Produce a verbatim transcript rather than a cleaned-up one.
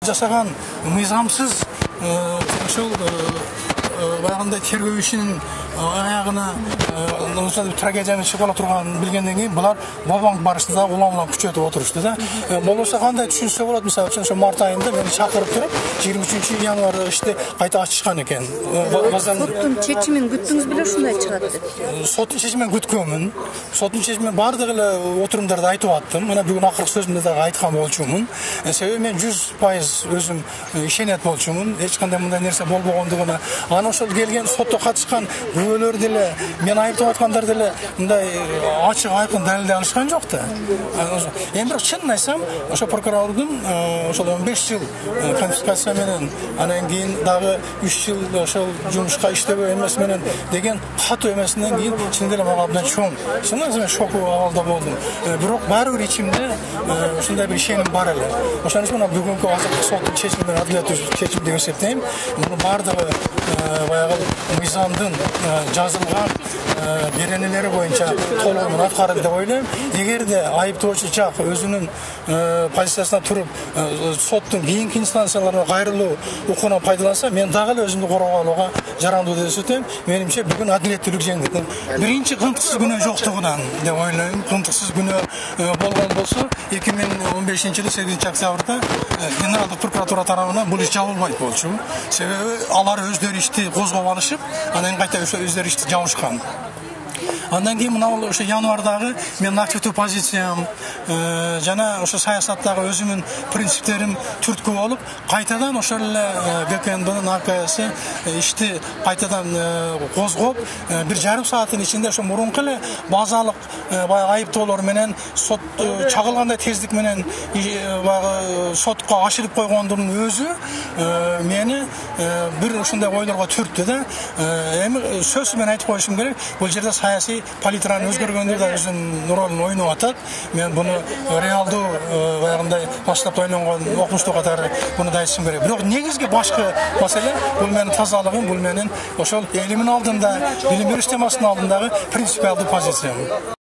жасаган мыйзамсыз ошол баягындай тергөө ишинин аягына трагедияны чыгып ала турганын билгенден кийин булар Бабанг барышты да улам улам күчөтүп отурушту да. Болбосо кандай түшүнсө болот, мисалы үчүн ошо март айында мени чакырып туруп жыйырма үчүнчү январда ишти кайта ачышкан экен. Соттун чечимин күттүңүз беле ушундай чыгат деп? Соттун чечимин күткөнмүн. Соттун чечимин бардык эле отурумдарда айтып аттым. Мына бүгүн акыркы сөзүмдө дагы айткан болчумун. Себеби мен жүз пайыз өзүм ишенет болчумун. Эч кандай мындай нерсе болбогондугуна. Анан ошол келген сотто катышкан күбөлөр деле, мен айыптап аткандар деле мындай ачык айкын далилдей алышкан жок да. Эми бирок чынын айтсам, ошо прокурордун ошол он беш жыл конфискация менен, анан кийин дагы үч жыл ошол жумушка иштебөө эмес менен деген катуу эмесинен кийин чын эле мага абдан чоң, чынын мен шок абалда болдум. Бирок баары бир ичимде ушундай бир ишеним бар эле. Ошон үчүн мына бүгүнкү азыркы соттун чечими менен адилеттүү чечим деп эсептейм. Мунун баардыгы баягы мыйзамдын жазылган беренелери боюнча толугу менен аткарылды деп ойлойм. Эгерде айыптоочу жак өзүнүн позициясына туруп соттун кийинки инстанцияларына кайрылуу укугунан пайдаланса, мен дагы эле өзүмдү коргоо алууга жарандуу деп эсептейм. Менимче бүгүн адилеттүүлүк жеңди. Биринчи кынтыксыз күнөө жоктугунан деп ойлойм. Кынтыксыз күнөө болгон болсо, эки миң он бешинчи жылы сегизинчи октябрда Генералдык прокуратура тарабынан бул иш жабылбайт болчу. Себеби алар өздөрү ишти козгоп алышып, анан кайта өздөрү ишти жабышкан. Андан кийин мына ошо январдагы менин активдүү позициям жана ошо саясаттагы өзүмдүн принциптерим түрткү болуп, кайтадан ошол эле ГКНБнын АКСы ишти кайтадан козгоп, бир жарым сааттын ичинде ошо мурунку эле базалык баягы айыптоолор менен сот чагылгандай тездик менен баягы сотко ашырып койгондун өзү мени бир ушундай ойлорго түрттү да. Эми сөзсүз менен айтып коюшум керек, бул жерде саясий палитраны өзгөргөндө да өзүнүн ролун ойноп атат. Мен буну реалдуу баягындай баштап ойлонгон окумуштуу катары буну да айтышым керек. Бирок негизги башкы маселе бул менин тазалыгым, бул менин ошол элимин алдында, билим берүү системасынын алдындагы принципиалдуу позициям.